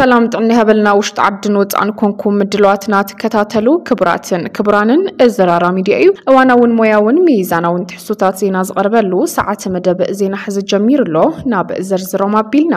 ሰላም ጥዕና ይሃበልና። ውሽጢ ዓድን ወፃእን ኮንኩም ምድለዋትና ትከታተሉ ክቡራትን ክቡራንን፣ እዚ ራራ ሚድያ እዩ። እዋናውን ሞያውን ሚዛናውን ትሕዝቶታት ዜና ዝቐርበሉ ሰዓት መደብ ዜና ሕዚ ጀሚሩ ኣሎ። ናብ ዝርዝሮም ኣቢልና።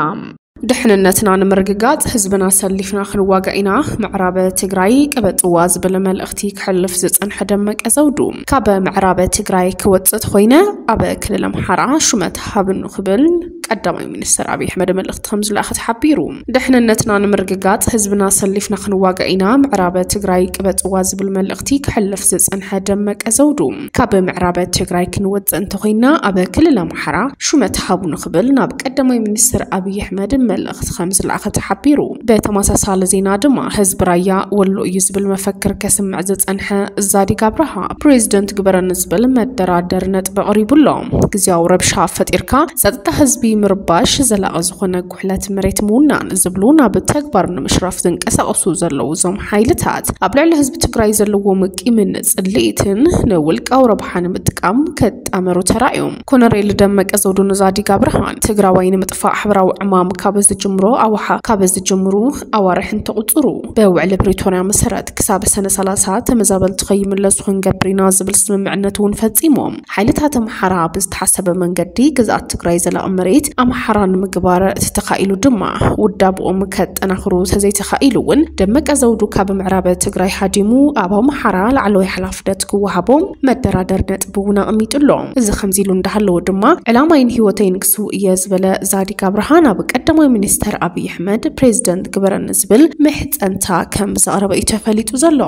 ድሕንነትና ንምርግጋፅ ህዝብና ሰሊፍና ክንዋጋእ ኢና። ምዕራብ ትግራይ ቅበፅዋ ዝብል መልእኽቲ ክሕልፍ ዝፀንሐ ደመቀ ዘውዱ፣ ካብ ምዕራብ ትግራይ ክወፅእ ተኾይነ ኣብ ክልል ኣምሓራ ሹመት ሃብኑ ክብል ቀዳማይ ሚኒስትር ኣብይ ኣሕመድ መልእኽቲ ከም ዝለኣኸ ተሓቢሩ። ድሕንነትና ንምርግጋፅ ህዝብና ሰሊፍና ክንዋጋእ ኢና። ምዕራብ ትግራይ ቅበፅዋ ዝብል መልእኽቲ ክሕልፍ ዝፀንሐ ደመቀ ዘውዱ፣ ካብ ምዕራብ ትግራይ ክንወፅእ እንተኾይና ኣብ ክልል ኣምሓራ ሹመት ሃቡኑ ክብል ናብ ቀዳማይ ሚኒስትር ኣብይ ኣሕመድ መልእኽቲ ከም ዝለኣኸ ተሓቢሩ። ብተመሳሳሊ ዜና ድማ ህዝቢ ራያ ወሎ እዩ ዝብል መፈክር ከስምዕ ዝፀንሐ ዛዲግ ኣብርሃ፣ ፕሬዚደንት ግበረኒ ዝብል መደራደሪ ነጥቢ ኣቕሪቡ ኣሎ። ግዝያዊ ረብሻ ፈጢርካ ጸጥታ ህዝቢ ምርባሽ፣ ዘላቒ ዝኾነ ጉሕለት መሬት ምውናን ዝብሉ ናብ ተግባር ንምሽራፍ ዝንቀሳቐሱ ዘለዉ እዞም ሓይልታት፣ ኣብ ልዕሊ ህዝቢ ትግራይ ዘለዎም ቂምን ጽልኢትን ንውልቃዊ ረብሓ ንምጥቃም ክጣመሩ ተራእዮም። ኮነሬል ደመቀ ዘውዱ ንዛዲግ ኣብርሃን ትግራዋይ ንምጥፋእ ሕብራዊ ዕማም ካብ ዝጅምሮ ኣዋሓ-፣ ካብ ዝጅምሩ ኣዋርሕ እንተቑጽሩ፣ ብውዕሊ ፕሪቶርያ መሰረት ክሳብ ሰነ ሰላሳ ተመዛበልቲ ከይምለሱ ክንገብር ኢና ዝብል ስምምዕነት እውን ፈጺሞም። ሓይልታት ኣምሓራ ብዝተሓሰበ መንገዲ ግዝኣት ትግራይ ዘላቒ መሬት ኣምሓራ ንምግባር ተተኻኢሉ ድማ ውዳብኦም ከጠናኽሩ ተዘይተኻኢሉ እውን ደመቀ ዘውዱ ካብ ምዕራብ ትግራይ ሃዲሙ ኣብ ኣምሓራ ላዕለዋይ ሓላፍነት ክወሃቦም መደራደሪ ነጥቢ እውን ኣቐሚጡ ኣሎ። እዚ ከምዚ ኢሉ እንዳሃለወ ድማ ዕላማይን ህይወተይን ክስውእ እየ ዝበለ ዛዲግ ኣብርሃ ናብ ቀዳማይ ሚኒስተር ኣብይ ኣሕመድ ፕሬዚደንት ግበረኒ ዝብል ምሕጸንታ ከም ዘቕረበ እዩ ተፈሊጡ ዘሎ።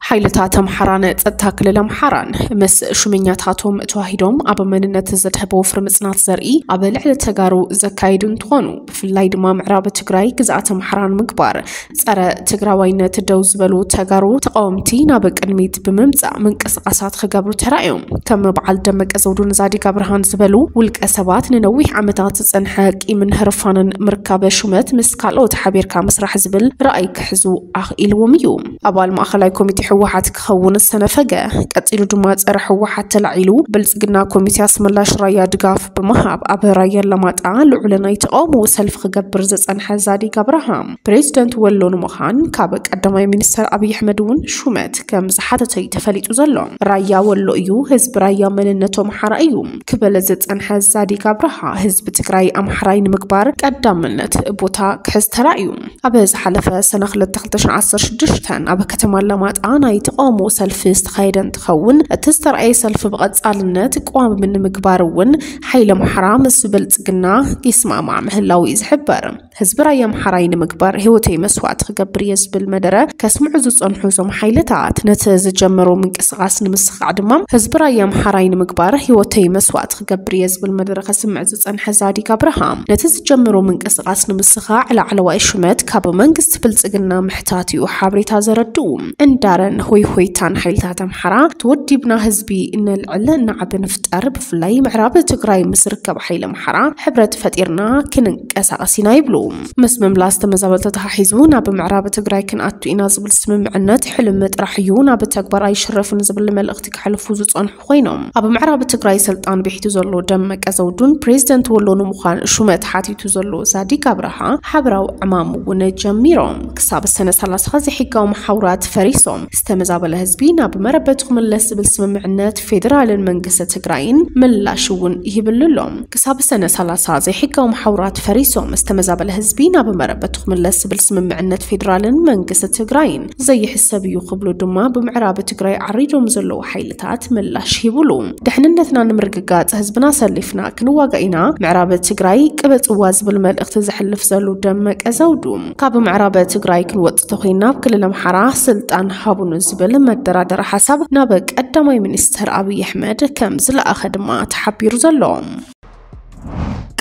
ሓይልታት ኣምሓራን ጸጥታ ክልል ኣምሓራን ምስ ሹመኛታቶም ተዋሂዶም ኣብ መንነት ዘድሀበ ወፍሪ ምጽናት ዘርኢ ኣብ ልዕሊ ተጋሩ ዘካየዱ እንትኾኑ፣ ብፍላይ ድማ ምዕራብ ትግራይ ግዝኣት ኣምሓራ ንምግባር ጸረ ትግራዋይነት ደው ዝበሉ ተጋሩ ተቃወምቲ ናብ ቅድሚት ብምምጻእ ምንቅስቃሳት ክገብሩ ተራእዮም። ከም በዓል ደመቀ ዘውዱ ንዛዲግ ኣብርሃን ዝበሉ ውልቀ ሰባት ንነዊሕ ዓመታት ዝጸንሐ ቂምን ህርፋንን ምርካበ ሹመት ምስ ካልኦት ሓቢርካ ምስራሕ ዝብል ራእይ ክሕዙ ኣኽኢልዎም እዩ። ኣባል ማእኸላይ ኮሚቴ ህወሓት ክኸውን ዝተነፈገ፣ ቀጺሉ ድማ ጸረ ህወሓት ተላዒሉ ብልጽግና ኮሚቴ ኣስመላሽ ራያ ድጋፍ ብምሃብ ኣብ ራያ ኣላማጣ ልዑል ናይ ተቃውሞ ሰልፊ ክገብር ዝጸንሐ ዛዲግ ኣብርሃ፣ ፕሬዚደንት ወሎ ንምዃን ካብ ቀዳማይ ሚኒስተር ኣብይ ኣሕመድ እውን ሹመት ከም ዝሓተተ እዩ ተፈሊጡ ዘሎ። ራያ ወሎ እዩ፣ ህዝቢ ራያ መንነቱ ኣምሓራ እዩ ክብል ዝጸንሐ ዛዲግ ኣብርሃ፣ ህዝቢ ትግራይ ኣምሓራይ ንምግባር ቀዳምነት ቦታ ክሕዝ ተራእዩ። ኣብ ዝሓለፈ ሰነ ክልተ ክልተ ሽሕን ዓሰርተ ሽዱሽተን ኣብ ከተማ ኣላማጣ ናይ ተቃውሞ ሰልፊ ዝተኻየደ እንትኸውን፣ እቲ ዝተረኣየ ሰልፊ ብቐጻልነት ቅዋም ንምግባር እውን ሓይሊ ኣምሓራ ምስ ብልጽግና ይስማማዕ ምህላው እዩ ዝሕበር። ህዝቢ ራያ ኣምሓራይ ንምግባር ህይወተይ መስዋዕቲ ክገብር እየ ዝብል መደረ ከስምዑ ዝጸንሑ እዞም ሓይልታት፣ ነቲ ዝጀመሮ ምንቅስቃስ ንምስኻዕ ድማ ህዝቢ ራያ ኣምሓራይ ንምግባር ህይወተይ መስዋዕቲ ክገብር እየ ዝብል መደረ ከስምዕ ዝጸንሐ ዛዲግ ኣብርሃ፣ ነቲ ዝጀመሮ ምንቅስቃስ ንምስኻዕ ላዕለዋይ ሹመት ካብ መንግስቲ ብልጽግና ምሕታት እዩ ሓበሬታ ዘረድኡ። እንዳረን ሆይ ሆይታን ሓይልታት ኣምሓራ ተወዲብና ህዝቢ ነልዕል፣ ናዕቢ ንፍጠር፣ ብፍላይ ምዕራብ ትግራይ ምስ ዝርከብ ሓይሊ ኣምሓራ ሕብረት ፈጢርና ክንንቀሳቐስ ኢና ይብሉ። ምስ ምምላስ ተመዛበልቲ ተተሓሒዙ ናብ ምዕራብ ትግራይ ክንኣቱ ኢና ዝብል ስምምዕነት ሕልሚ ጥራሕ እዩ፣ ናብ ተግባር ኣይሽረፍን ዝብል መልእኽቲ ከሕልፉ ዝጸንሑ ኮይኖም፣ ኣብ ምዕራብ ትግራይ ስልጣን ብሒቱ ዘሎ ደመቀ ዘውዱን ፕሬዚደንት ወሎ ንምዃን ሹመት ሓቲቱ ዘሎ ዛዲግ ኣብርሃ ሓበራዊ ዕማም እውን ጀሚሮም። ክሳብ ሰነ ሰላሳ ዘይሕጋዊ መሓውራት ፈሪሶም ዝተመዛበለ ህዝቢ ናብ መረበቱ ክምለስ ዝብል ስምምዕነት ፌዴራልን መንግስቲ ትግራይን ምላሽ እውን ይህብሉ ኣሎ። ክሳብ ሰነ ሰላሳ ዘይሕጋዊ መሓውራት ፈሪሶም ዝተመዛበለ ህዝቢ ናብ መረበቱ ክምለስ ዝብል ስምምዕነት ፌዴራልን መንግስቲ ትግራይን ዘይሕሰብ እዩ ክብሉ ድማ ብምዕራብ ትግራይ ዓሪዶም ዘለዉ ሓይልታት ምላሽ ሂቡሉ። ድሕንነትና ንምርግጋጽ ህዝብና ሰሊፍና ክንዋጋእ ኢና። ምዕራብ ትግራይ ቅበጽዋ ዝብል መልእኽቲ ዘሕልፍ ዘሎ ደመቀ ዘውዱ፣ ካብ ምዕራብ ትግራይ ክንወጽእ ተኾይና ኣብ ክልል ኣምሓራ ስልጣን ሃቡኑ ዝብል መደራደሪ ሓሳብ ናብ ቀዳማይ ሚኒስተር ኣብይ ኣሕመድ ከም ዝለኣኸ ድማ ተሓቢሩ ዘሎ።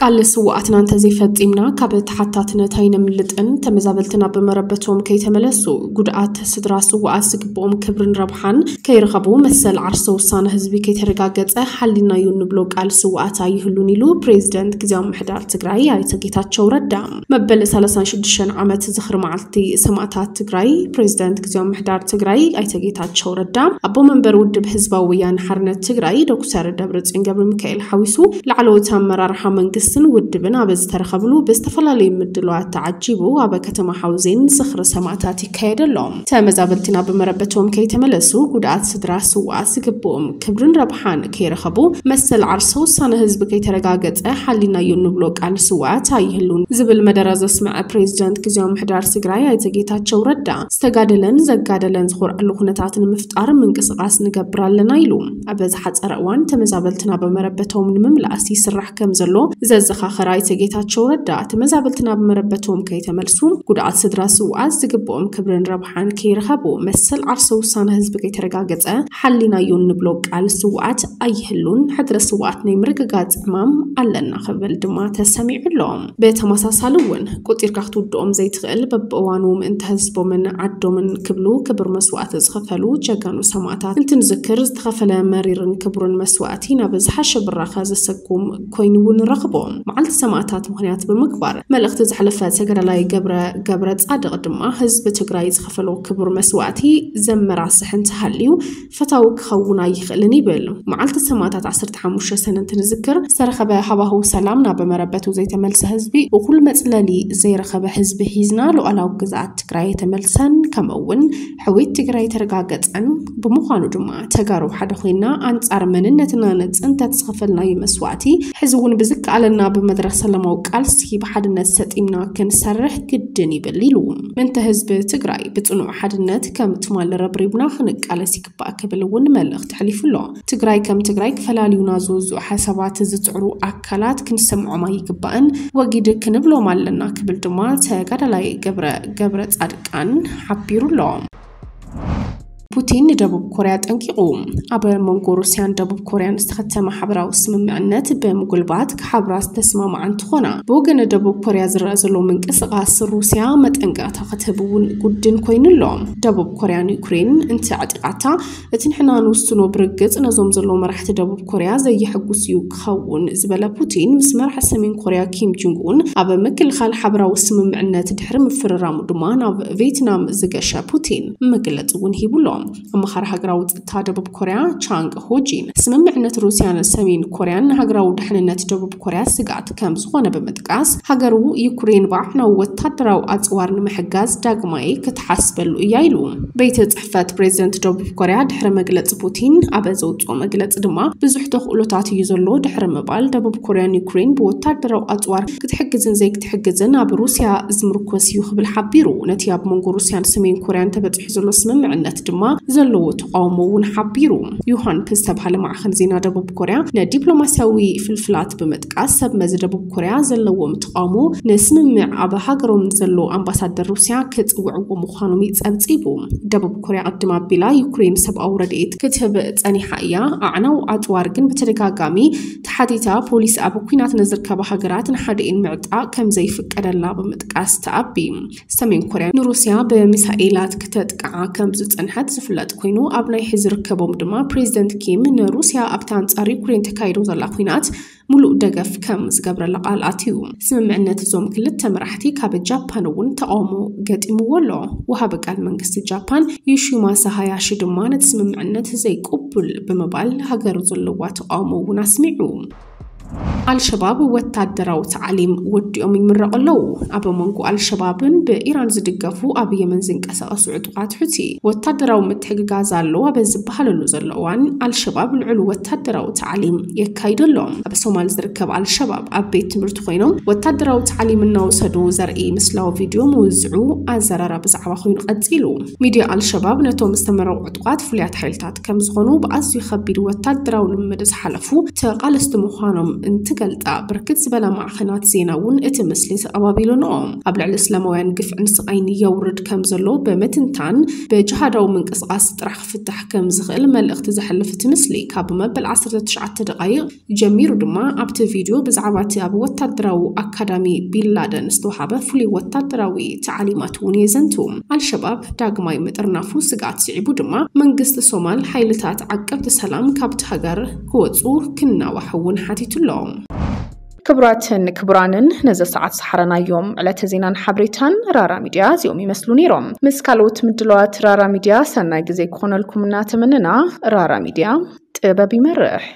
ቃል ስውኣትና እንተዘይፈጺምና ካብ ተሓታትነት ኣይነምልጥን። ተመዛበልትና ብመረበቶም ከይተመለሱ፣ ጉድኣት ስድራ ስውኣት ዝግብኦም ክብርን ረብሓን ከይረኸቡ፣ መሰል ዓርሰ ውሳነ ህዝቢ ከይተረጋገጸ ሓሊናዮ እንብሎ ቃል ስውኣት ኣይህሉን ኢሉ ፕሬዚደንት ግዝያዊ ምምሕዳር ትግራይ ኣይተ ጌታቸው ረዳ። መበል ሰላሳን ሽዱሽተን ዓመት ዝኽሪ መዓልቲ ሰማእታት ትግራይ ፕሬዚደንት ግዝያዊ ምምሕዳር ትግራይ ኣይተ ጌታቸው ረዳ፣ ኣቦ መንበር ውድብ ህዝባዊ ወያነ ሓርነት ትግራይ ዶክተር ደብረጽዮን ገብረ ሚካኤል ሓዊሱ ላዕለዎት ኣመራርሓ መንግስቲ ስን ውድብን ኣብ ዝተረኸብሉ ብዝተፈላለዩ ምድላዋት ተዓጂቡ ኣብ ከተማ ሓውዜን ዝኽሪ ሰማእታት ይካየድ ኣሎ። ተመዛበልትና ብመረበቶም ከይተመለሱ ጉድኣት ስድራ ስውኣት ዝግብኦም ክብርን ረብሓን ከይረኸቡ መሰል ዓርሰ ውሳነ ህዝቢ ከይተረጋገጸ ሓሊናዮ እንብሎ ቃል ስውኣት ኣይህሉን ዝብል መደረ ዘስመዐ ፕሬዚደንት ግዜያዊ ምሕዳር ትግራይ ኣይተ ጌታቸው ረዳ ዝተጋደለን ዘጋደለን ዝኾርዓሉ ኩነታት ንምፍጣር ምንቅስቃስ ንገብር ኣለና ኢሉ። ኣብ ዝሓጸረ እዋን ተመዛበልትና ብመረበቶም ንምምላስ ይስራሕ ከም ዘሎ ዘዘኻኸረ ኣይተ ጌታቸው ረዳ ተመዛበልትና ብመረበቶም ከይተመልሱ ጉድኣት ስድራ ስውኣት ዝግብኦም ክብርን ረብሓን ከይረኸቡ መሰል ዓርሰ ውሳነ ህዝቢ ከይተረጋገጸ ሓሊናዮ እንብሎ ቃል ስውኣት ኣይህሉን። ሕድረ ስውኣት ናይ ምርግጋጽ ዕማም ኣለና ክብል ድማ ተሰሚዑ ኣሎ። ብተመሳሳሊ እውን ቁጺርካ ክትውድኦም ዘይትኽእል በብእዋኑ ምእንቲ ህዝቦምን ዓዶምን ክብሉ ክብር መስዋእቲ ዝኸፈሉ ጀጋኑ ሰማእታት እንትንዝክር ዝተኸፈለ መሪርን ክቡርን መስዋእቲ ናብ ዝሓሸ ብራኸ ዘሰጉም ኮይኑ እውን ንረኽቦ። መዓልቲ ሰማእታት ምኽንያት ብምግባር መልእኽቲ ዘሕለፈ ተጋዳላይ ገብረ ገብረ ጻድቕ ድማ ህዝቢ ትግራይ ዝኸፈሎ ክቡር መስዋእቲ ዘመራስሕ እንተሃልዩ ፈታዊ ክኸውን ኣይኽእልን ይብል። መዓልቲ ሰማእታት ዓሰርተ ሓሙሽተ ሰነ እንትንዝክር ዝተረኸበ ሃዋህው ሰላም ናብ መረበቱ ዘይተመልሰ ህዝቢ፣ እኹል መጽለሊ ዘይረኸበ ህዝቢ ሒዝና ሉዓላዊ ግዝኣት ትግራይ ኣይተመልሰን፣ ከምኡ እውን ሕውየት ትግራይ ኣይተረጋገጸን። ብምዃኑ ድማ ተጋሩ ሓደ ኮይና ኣንጻር መንነትና ንጽንተት ዝኸፈልናዮ መስዋእቲ ሕዚ እውን ብዝከኣለና ብመድረኽ ሰላማዊ ቃልሲ ብሓድነት ሰጢምና ክንሰርሕ ግድን ይብል ኢሉ። ምእንተ ህዝቢ ትግራይ ብጽኑዕ ሓድነት ከም ትማል ረብሪብና ክንቃለስ ይግባእ ክብል እውን መልእኽቲ ኣሕሊፉ ኣሎ። ትግራይ ከም ትግራይ ክፈላልዩና ዝውዝዑ ሓሳባት ዝጽዕሩ ኣካላት ክንሰምዖም ኣይግባእን፣ ወጊድ ክንብሎም ኣለና ክብል ድማ ተጋዳላይ ገብረ ገብረ ጻድቃን ሓቢሩ ኣሎ። ፑቲን ንደቡብ ኮርያ ጠንቂቑ። ኣብ መንጎ ሩስያን ደቡብ ኮርያን ዝተኸተመ ሓበራዊ ስምምዕነት ብምጉልባት ክሓብራ ዝተስማማዓ እንትኾና፣ ብወገን ደቡብ ኮርያ ዝረኣ ዘሎ ምንቅስቓስ ሩስያ መጠንቀቕታ ክትህብ እውን ጉድን ኮይኑ ኣሎ። ደቡብ ኮርያ ንዩክሬን እንተዕጢቓታ፣ እቲ ንሕና ንውስኖ ብርግጽ ነዞም ዘለዉ መራሕቲ ደቡብ ኮርያ ዘየሐጉስ እዩ ክኸውን ዝበለ ፑቲን፣ ምስ መራሒ ሰሜን ኮርያ ኪም ጆንግ ኡን ኣብ ምክልኻል ሓበራዊ ስምምዕነት ድሕሪ ምፍርራሙ ድማ ናብ ቬትናም ዝገሸ ፑቲን መግለጺ እውን ሂቡ ኣሎ። ኣማኻሪ ሃገራዊ ጸጥታ ደቡብ ኮርያ ቻንግ ሆጂን፣ ስምምዕነት ሩስያን ሰሜን ኮርያን ንሃገራዊ ድሕንነት ደቡብ ኮርያ ስግኣት ከም ዝኾነ ብምጥቃስ፣ ሃገሩ ዩክሬን ብዓዕናዊ ወታደራዊ ኣጽዋር ንምሕጋዝ ዳግማይ ክትሓስበሉ እያ ኢሉ። ቤት ጽሕፈት ፕሬዚደንት ደቡብ ኮርያ ድሕሪ መግለጺ ፑቲን ኣብ ዘውጽኦ መግለጺ ድማ፣ ብዙሕ ተኽእሎታት እዩ ዘሎ ድሕሪ ምባል፣ ደቡብ ኮርያን ዩክሬን ብወታደራዊ ኣጽዋር ክትሕግዝን ዘይክትሕግዝን ኣብ ሩስያ ዝምርኮስ እዩ ክብል ሓቢሩ። ነቲ ኣብ መንጎ ሩስያን ሰሜን ኮርያን ተበጺሑ ዘሎ ስምምዕነት ድማ ዘለዎ ተቃውሞ እውን ሓቢሩ። ዮሃንፕ ዝተባህለ ማዕኸን ዜና ደቡብ ኮርያ ንዲፕሎማስያዊ ፍልፍላት ብምጥቃስ፣ ሰብ መዚ ደቡብ ኮርያ ዘለዎም ተቃውሞ ንስምምዕ ኣብ ሃገሮም ዘሎ ኣምባሳደር ሩስያ ክጽውዕዎ ምዃኖም እዩ ጸብጺቡ። ደቡብ ኮርያ ቅድም ኣቢላ ዩክሬን ሰብኣዊ ረድኤት ክትህብ ጸኒሓ እያ። ኣዕናዊ ኣጽዋር ግን ብተደጋጋሚ ተሓቲታ፣ ፖሊስ ኣብ ኲናት ንዝርከባ ሃገራት ንሓደኤን ምዕጣቕ ከም ዘይፍቀደላ ብምጥቃስ ተኣቢ። ሰሜን ኮርያ ንሩስያ ብሚሳኤላት ክተጥቅዓ ከም ዝጸንሐት ዝፍለጥ ኮይኑ፣ ኣብ ናይ ሕዚ ርከቦም ድማ ፕሬዚደንት ኪም ንሩስያ ኣብታ ኣንጻር ዩክሬን ተካይዶ ዘላ ኲናት ሙሉእ ደገፍ ከም ዝገብረላ ቃል ኣትዩ። ስምምዕነት እዞም ክልተ መራሕቲ ካብ ጃፓን እውን ተቃውሞ ገጢምዎ ኣሎ። ወሃቢ ቃል መንግስቲ ጃፓን ዮሺማሳ ሃያሺ ድማ ነቲ ስምምዕነት ዘይቅቡል ብምባል ሃገሩ ዘለዋ ተቃውሞ እውን ኣስሚዑ። ኣልሸባብ ወታደራዊ ታዕሊም ወዲኦም ይምረቑ ኣለዉ። ኣብ መንጎ ኣልሸባብን ብኢራን ዝድገፉ ኣብ የመን ዝንቀሳቐሱ ዕጡቓት ሑቲ ወታደራዊ ምትሕግጋዝ ኣሎ ኣብ ዝበሃለሉ ዘሎ እዋን፣ ኣልሸባብ ልዑል ወታደራዊ ታዕሊም የካይዱ ኣሎ። ኣብ ሶማል ዝርከብ ኣልሸባብ ኣብ ቤት ትምህርቲ ኮይኖም ወታደራዊ ታዕሊም እናወሰዱ ዘርኢ ምስላዊ ቪድዮ ምውዝዑ ኣዘራራቢ ዛዕባ ኮይኑ ቀጺሉ። ሚድያ ኣልሸባብ ነቶም ዝተመረቑ ዕጡቓት ፍሉያት ሓይልታት ከም ዝኾኑ፣ ብኣዝዩ ከቢድ ወታደራዊ ልምምድ ዝሓለፉ ተቓለስቲ ምዃኖም እንትገልጻ፣ ብርክት ዝበላ ማዕኸናት ዜና እውን እቲ ምስሊ ተቐባቢሎንኦ። ኣብ ልዕሊ እስላማውያን ግፍዕን ስቓይን የውርድ ከም ዘሎ ብምትንታን፣ ብጅሃዳዊ ምንቅስቓስ ጥራሕ ክፍታሕ ከም ዝኽእል መልእኽቲ ዘሕልፍ እቲ ምስሊ፣ ካብ መበል ዓሰርተ ትሽዓተ ደቓይቕ ጀሚሩ ድማ ኣብቲ ቪድዮ ብዛዕባ እቲ ኣብ ወታደራዊ ኣካዳሚ ቢንላደን ዝተዋሃበ ፍሉይ ወታደራዊ ታዕሊማት እውን የዘንቱ። ኣልሸባብ ዳግማይ ምጥርናፉ ስግኣት ስዒቡ ድማ፣ መንግስቲ ሶማል ሓይልታት ዓቀብቲ ሰላም ካብቲ ሃገር ክወጹ ክናዋሕ እውን ሓቲቱ ኣሎ። ክቡራትን ክቡራንን፣ ነዚ ሰዓት ዝሓረናዮም ዕለተ ዜናን ሓበሬታን ራራ ሚድያ እዚኦም ይመስሉ ነይሮም። ምስ ካልኦት ምድላዋት ራራ ሚድያ ሰናይ ግዜ ክኾነልኩም እናተመነና፣ ራራ ሚድያ ጥበብ ይመርሕ።